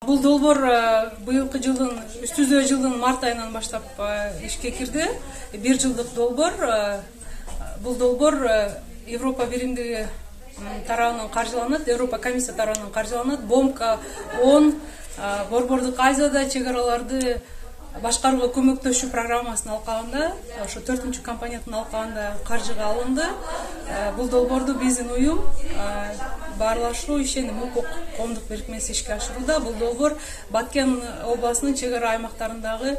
Бул долбоор быйылкы жылдын үстүздө жылдын март айынан баштап ишке кирди. 1 жылдык долбоор. Бул долбоор Европа биримдиги тарабынан каржыланат, Европа комиссия тарабынан каржыланат. БОМК 10 Борбордук Азияда чек араларды башкарууга көмөктөшүү программасын алкагында, ошо 4-чү компонентин алкагында каржыга алынды. Бул долбоорду биздин уюм Баарлашуу ишеним укук коомдук бирикмеси ишке ашырууда. Бул долбоор Баткен областынын чек ара аймактарындагы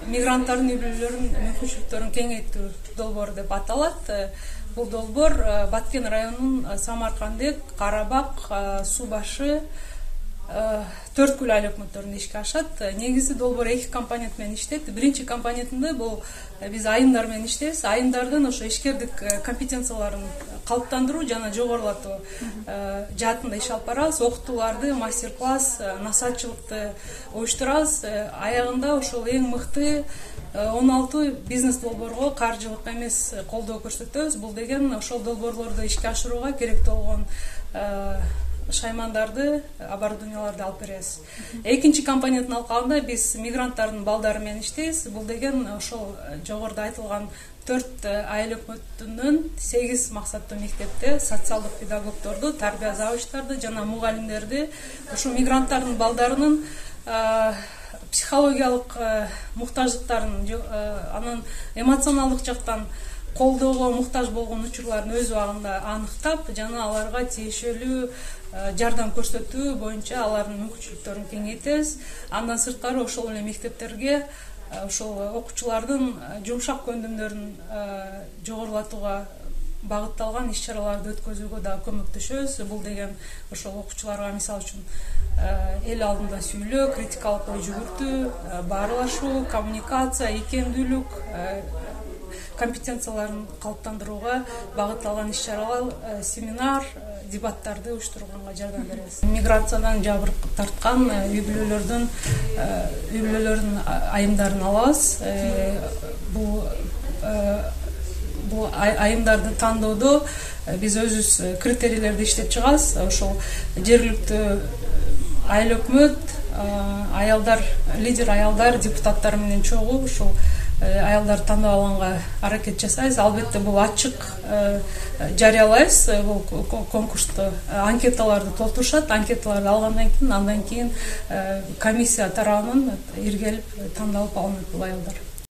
мигранттардын үй-бүлөлөрүнүн мүмкүнчүлүктөрүн кеңейтүү долбоору деп аталат. Бул долбоор Баткен районунун Самаркандек, Карабак, Суу башы, Төрткүл айыл өкмөттөрүндө ишке ашат. Негизи долбоор 2 компонент менен иштейт. Биринчи компонентинде бул биз айымдар менен иштейбиз. Айымдардын ошо ишкердик компетенцияларын калыптандыруу жана жогорулатуу жаатында иш алып барабыз. Окутууларды, мастер-класс, насаатчылыкты уюштурабыз. Аягында ошол эң мыкты 16 бизнес долбоорго каржылык эмес колдоо көрсөтөбүз. Бул деген ошол долбоорлорду ишке ашырууга керектүү болгон шаймандарды, оборудованияларды алып беребиз. Экинчи компоненттин алкагында биз мигранттардын балдары менен иштейбиз. Бул деген ошол жогоруда айтылган 4 айыл өкмөтүнүн 8 максаттуу мектепте социалдык педагогдорду, тарбия завучтарды жана мугалимдерди ушу мигранттардын балдарынын психологиялык муктаждыктарын, анын эмоционалдык жактан колдоого муктаж болгон учурларын өз убагында аныктап жана аларга тиешелүү жардам көрсөтүү боюнча алардын мүмкүнчүлүктөрүн кеңейтебиз. Андан сырткары ошол эле мектептерге ошол окуучулардын жумшак көндүмдөрүн жогорулатууга багытталган иш-чараларды өткөзүүгө да көмөктөшөбүз. Бул деген ошол окуучуларга мисалы үчүн эл алдында сүйлөө, критикалык ой жүгүртүү, баарлашуу, коммуникация, икемдүүлүк компетенцияларын калыптандырууга багытталган иш-чаралар, семинар, дебаттарды уюштурганга жардам беребиз. Миграциядан жабыр тарткан үй-бүлөлөрдүн айымдарын алабыз. Бул айымдарды тандоодо биз өзүбүз критерийлерди иштеп чыгабыз. Ошол жергиликтүү айыл өкмөт, аялдар, лидер аялдар, депутаттар менен чогуу ушул аялдарды тандап алганга аракет жасайбыз. Албетте бул ачык жарыялайбыз. Бул конкурсту анкеталарды толтурушат. Анкеталарды алгандан кийин комиссия тарабынан иргелип тандалып алынат бул аялдар.